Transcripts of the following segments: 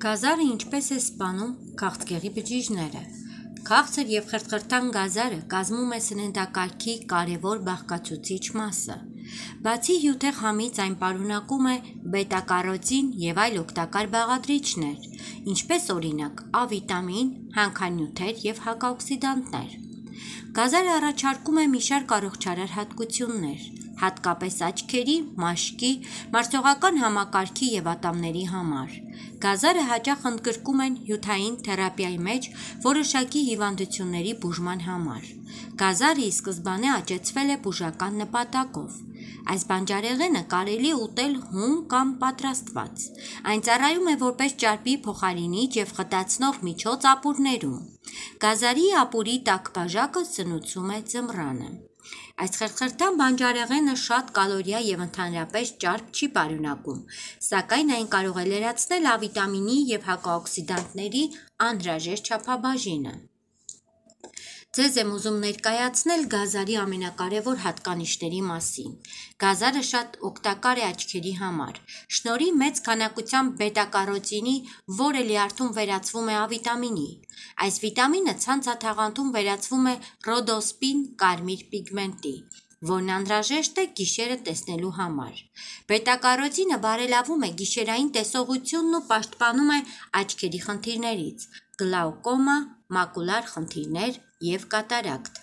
Գազարը ինչպես է սպանում քաղցկեղի բջիջները։ Քաղցր և խրթխրթան գազարը կազմում է սննդակարգի կարևոր բաղկացուցիչ մասը։ Բացի հյութեղ համից այն պարունակում է բետա-կարոտին և այլ օգտակար բաղադրիչներ, ինչպես օրինակ A վիտամին, հանքանյութեր և հակաօքսիդանտներ։ Գազարը առաջարկում է մի շարք առողջարար հատկություններ, հատկապես աչքերի, մաշկի, մարսողական համակարգի և ատամների համար։ Գազարը հաճախ ընդգրկում են հյութային թերապիայի մեջ որոշակի հիվանդությունների բուժման համար։ Գազարը ի սկզբանե աճեցվել է բուժական նպատակով։ Այս բանջարեղենը կարելի է ուտել հում կամ պատրաստված։ Այն ծառայում է որպես ճարպի փոխարինիչ և խտացնող միջոց ապուրներում։ Գազարի ապուրի տաք բաժակը սնուցում է ձմռանը։ Այս խրթխրթան բանջարեղենը շատ կալորիա և ընդհանրապես ճարպ չի պարունակում, սակայն այն կարող է լրացնել A վիտամինի և հակաօքսիդանտների անհրաժեշտ չափաբաժինը։ Ձեզ եմ ուզում ներկայացնել գազարի ամենակարևոր հատկանիշների մասին։ Գազարը շատ օգտակար է աչքերի համար։ Շնորհիվ մեծ քանակությամբ բետա-կարոտինի, որը լյարդում վերածվում է A վիտամինի։ Այս վիտամինը ցանցաթաղանթում վերածվում է ռոդոսպին կարմիր պիգմենտի, որն անհրաժեշտ է գիշերը տեսնելու համար։ Բետա-կարոտինը բարելավում է գիշերային տեսողությունն ու պաշտպանում է աչքերի խնդիրներից՝ գլաուկոմա, մակուլար խնդիրներ և կատարակտ։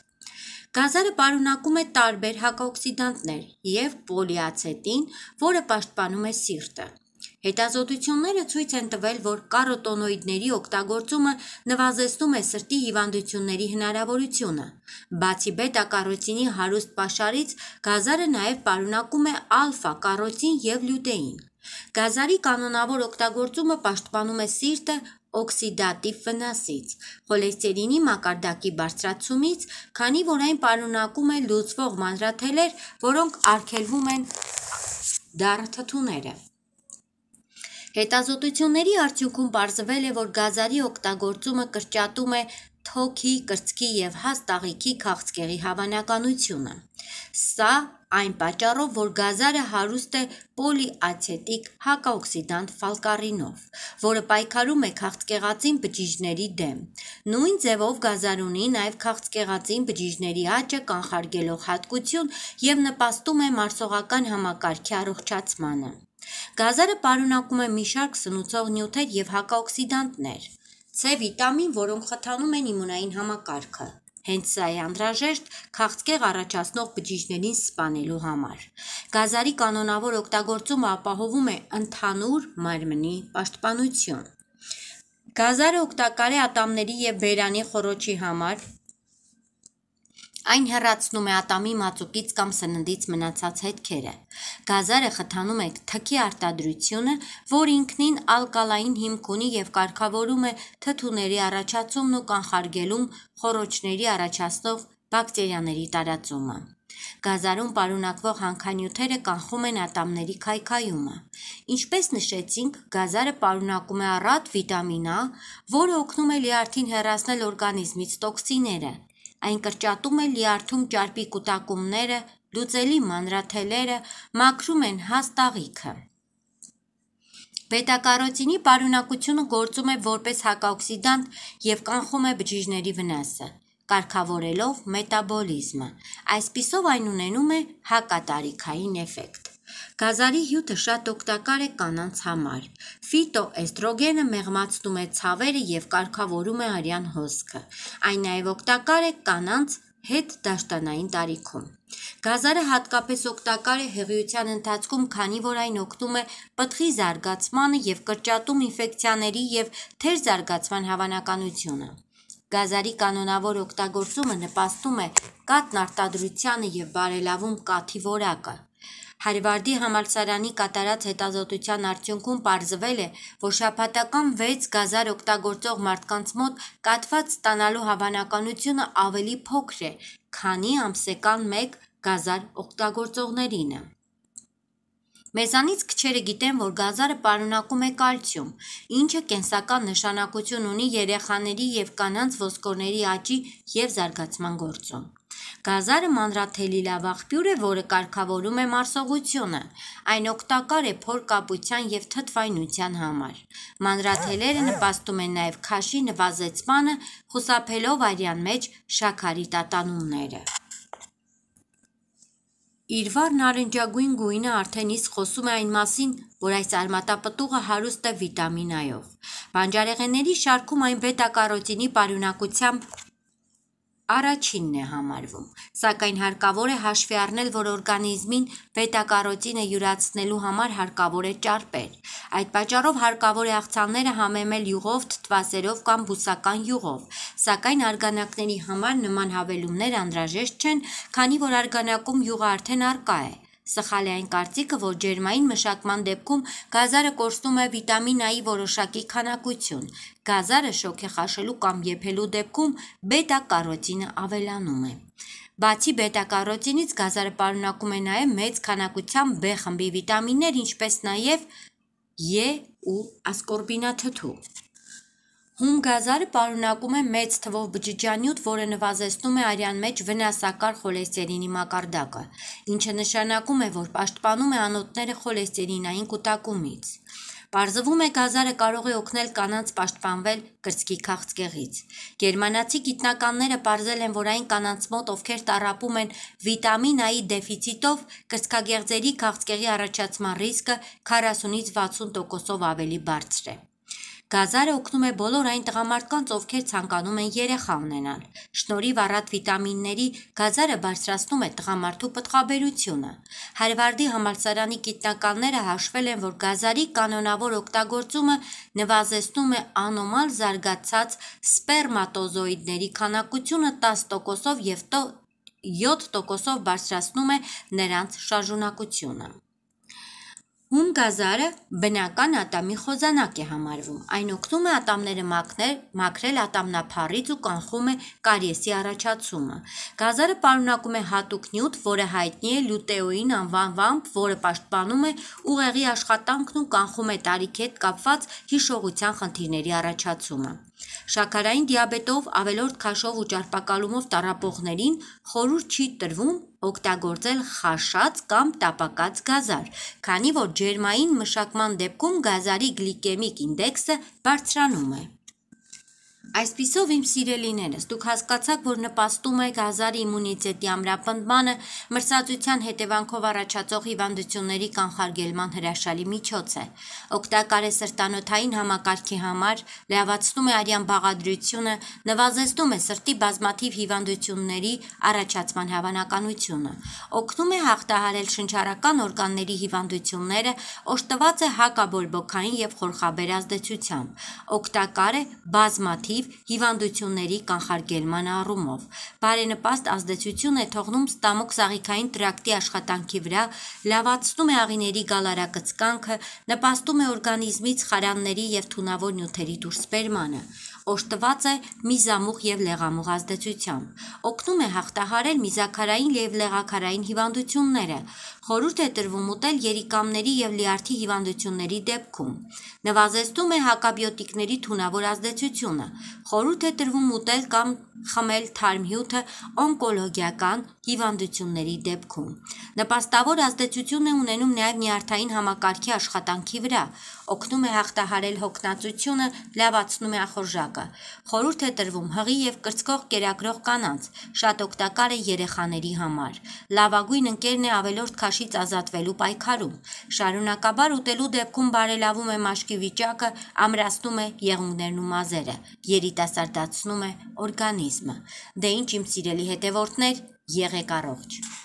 Գազարը պարունակում է տարբեր հակաօքսիդանտներ և պոլիացետին, որը պաշտպանում է սիրտը։ Հետազոտությունները ցույց են տվել, որ կարոտոնոիդների օգտագործումը նվազեցնում է սրտի հիվանդությունների հնարավորությունը։ Բացի բետա-կարոտինի հարուստ պաշարից, գազարը նաև պարունակում է ալֆա-կարոտին և լյուտեին։ Գազարի կանոնավոր օգտագործումը պաշտպանում է սիրտը օքսիդատիվ վնասից, խոլեստերինի մակարդակի բարձրացումից, քանի որ այն պարունակում է լուծվող մանրաթելեր, որոնք արգելվում են դառը թթուները։ Հետազոտությունների արդյունքում պարզվել է, որ գազարի օգտագործումը կրճատում է թոքի, կրծքի և հաստ աղիքի քաղցկեղի հավանականությունը։ Սա այն պատճառով, որ գազարը հարուստ է պոլիացետիկ հակաօքսիդանտ ֆալկարինով, որը պայքարում է քաղցկեղածին բջիջների դեմ։ Նույն ձևով գազարը ունի նաև քաղցկեղածին բջիջների աճը կանխարգելող հատկություն և նպաստում է մարսողական համակարգի առողջացմանը։ Գազարը պարունակում է մի շարք սնուցող նյութեր և հակաօքսիդանտներ, C վիտամին, որոնք խթանում են իմունային համակարգը։ Հենց սա է անհրաժեշտ քաղցկեղ առաջացնող բջիջներին սպանելու համար։ Գազարի կանոնավոր օգտագործումը ապահովում է ընդհանուր մարմնի պաշտպանություն։ Գազարը օգտակար է ատամների և բերանի խոռոչի համար։ Այն հեռացնում է ատամի մածուկից կամ սննդից մնացած հետքերը։ Գազարը խթանում է թքի արտադրությունը, որը ինքնին ալկալային հիմք ունի և կարգավորում է թթուների առաջացումն ու կանխարգելում խոռոչների առաջացնող բակտերիաների տարածումը։ Գազարում պարունակվող հանքանյութերը կանխում են ատամների քայքայումը։ Ինչպես նշեցինք, գազարը պարունակում է առատ վիտամին A, որը օգնում է լյարդին հեռացնել օրգանիզմից տոքսինները։ Այն կրճատում է լյարդում ճարպի կուտակումները, լուծելի մանրաթելերը, մաքրում են հաստ աղիքը։ Բետա-կարոտինի պարունակությունը գործում է որպես հակաօքսիդանտ և կանխում է բջիջների վնասը, կարգավորելով մետաբոլիզմը։ Այսպիսով այն ունենում է հակատարիքային էֆեկտ։ Գազարի հյութը շատ օգտակար է կանանց համար։ Ֆիտոէստրոգենը մեղմացնում է ցավերը և կարգավորում է արյան հոսքը։ Այն նաև օգտակար է կանանց հետդաշտանային տարիքում։ Գազարը հատկապես օգտակար է հղիության ընթացքում, քանի որ այն օգնում է պտղի զարգացմանը և կրճատում ինֆեկցիաների և թերզարգացման հավանականությունը։ Գազարի կանոնավոր օգտագործումը նպաստում է կաթնարտադրությանը և բարելավում կաթի որակը։ Հարվարդի համալսարանի կատարած հետազոտության արդյունքում պարզվել է, որ շաբաթական 6 գազար օգտագործող մարդկանց մոտ կաթված ստանալու հավանականությունը ավելի փոքր է, քանի ամսական 1 գազար օգտագործողներինը։ Մեզանից քչերը գիտեն, որ գազարը պարունակում է կալցիում, ինչը կենսական նշանակություն ունի երեխաների և կանանց ոսկորների աճի և զարգացման գործում։ Գազարը մանրաթելի լավ աղբյուր է, որը կարգավորում է մարսողությունը։ Այն օգտակար է փորկապության և թթվայնության համար։ Մանրաթելերը նպաստում են նաև քաշի նվազեցմանը, խուսափելով արյան մեջ շաքարի տատանումները։ Իր վառ նարնջագույն գույնը արդեն իսկ խոսում է այն մասին, որ այս արմատապտուղը հարուստ է վիտամին A-ով։ Բանջարեղենների շարքում այն բետա-կարոտինի պարունակությամբ առաջինն է համարվում, սակայն հարկավոր է հաշվի առնել, որ օրգանիզմին բետա-կարոտինը յուրացնելու համար հարկավոր է ճարպեր։ Այդ պատճառով հարկավոր է աղցանները համեմել յուղով, թթվասերով կամ բուսական յուղով, սակայն արգանակների համար նման հավելումներ անհրաժեշտ չեն, քանի որ արգանակում յուղը արդեն առկա է։ Սխալ է այն կարծիքը, որ ջերմային մշակման դեպքում գազարը կորցնում է վիտամին A-ի որոշակի քանակություն։ Գազարը շոգ է խաշելու կամ եփելու դեպքում բետա-կարոտինը ավելանում է։ Բացի բետա-կարոտինից գազարը պարունակում է նաև մեծ քանակությամբ B խմբի վիտամիններ, ինչպես նաև E ու ասկորբինաթթու։ Հում գազարը պարունակում է մեծ թվով բջջանյութ, որը նվազեցնում է արյան մեջ վնասակար խոլեստերինի մակարդակը, ինչը նշանակում է, որ պաշտպանում է անոթները խոլեստերինային կուտակումից։ Պարզվում է գազարը կարող է օգնել կանանց պաշտպանվել կրծքի քաղցկեղից։ Գերմանացի գիտնականները պարզել են, որ այն կանանց մոտ, ովքեր տառապում են վիտամին A-ի դեֆիցիտով, կրծքագեղձերի քաղցկեղի առաջացման ռիսկը 40-ից 60%-ով ավելի բարձր է։ Գազարը օգնում է բոլոր այն տղամարդկանց, ովքեր ցանկանում են երեխա ունենալ։ Շնորհիվ առատ վիտամինների գազարը բարձրացնում է տղամարդու պտղաբերությունը։ Հարվարդի համալսարանի գիտնականները հաշվել են, որ գազարի կանոնավոր օգտագործումը նվազեցնում է անոմալ զարգացած սպերմատոզոիդների քանակությունը 10%-ով և 7%-ով բարձրացնում է նրանց շարժունակությունը։ Հում գազարը բնական ատամի խոզանակ է համարվում։ Այն օգնում է ատամները մաքրել ատամնափառից ու կանխում է կարիեսի առաջացումը։ Գազարը պարունակում է հատուկ նյութ, որը հայտնի է լյուտեոին անվանմամբ, որը պաշտպանում է ուղեղի աշխատանքն ու կանխում է տարիքի հետ կապված հիշողության խնդիրների առաջացումը։ Շաքարային դիաբետով, ավելորդ քաշով ու ճարպակալումով տառապողներին խորհուրդ չի տրվում օգտագործել խաշած կամ տապակած գազար, քանի որ ջերմային մշակման դեպքում գազարի գլիկեմիկ ինդեքսը բարձրանում է։ Այսպիսով, իմ սիրելիներս, դուք հասկացաք, որ նպաստում է գազարը իմունիտետի ամրապնդմանը, մրսածության հետևանքով առաջացող հիվանդությունների կանխարգելման հրաշալի միջոց է։ Օգտակար է սրտանոթային համակարգի համար, լավացնում է արյան բաղադրությունը, նվազեցնում է սրտի բազմաթիվ հիվանդությունների առաջացման հավանականությունը, օգնում է հաղթահարել շնչառական օրգանների հիվանդությունները, օժտված է հակաբորբոքային և խորխաբեր ազդեցությամբ, օգտակար է բազմաթիվ հիվանդությունների կանխարգելման առումով, բարենպաստ ազդեցություն է թողնում ստամոք-սաղիքային տրակտի աշխատանքի վրա, լավացնում է աղիների գալարակծկանքը, նպաստում է օրգանիզմից խարանների և թունավոր նյութերի դուրսբերմանը, օժտված է միզամուղ և լեղամուղ ազդեցությամբ, օգնում է հաղթահարել միզաքարային և լեղաքարային հիվանդությունները, խորհուրդ է տրվում ուտել երիկամների և լյարդի հիվանդությունների դեպքում, նվազեցնում է հակաբիոտիկների թունավոր ազդեցությունը, խորհուրդ է տրվում ուտել կամ խմել թարմ հյութը օնկոլոգիական հիվանդությունների դեպքում։ Նպաստավոր ազդեցություն է ունենում նաև նյարդային համակարգի աշխատանքի վրա, օգնում է հաղթահարել հոգնածությունը, լավացնում է ախորժակը։ Խորհուրդ է տրվում հղի և կրծքող կերակրող կանանց, շատ օգտակար է երեխաների համար։ Լավագույն ընկերն է ավելորդ քաշից ազատվելու պայքարում։ Շարունակաբար ուտելու դեպքում բարելավում է մաշկի վիճակը, ամրացնում է եղունգներն ու մազերը, երիտասարդացնում է օրգանիզմը։ Դե ինչ իմ սիրելի հետևորդներ, եղեք առողջ։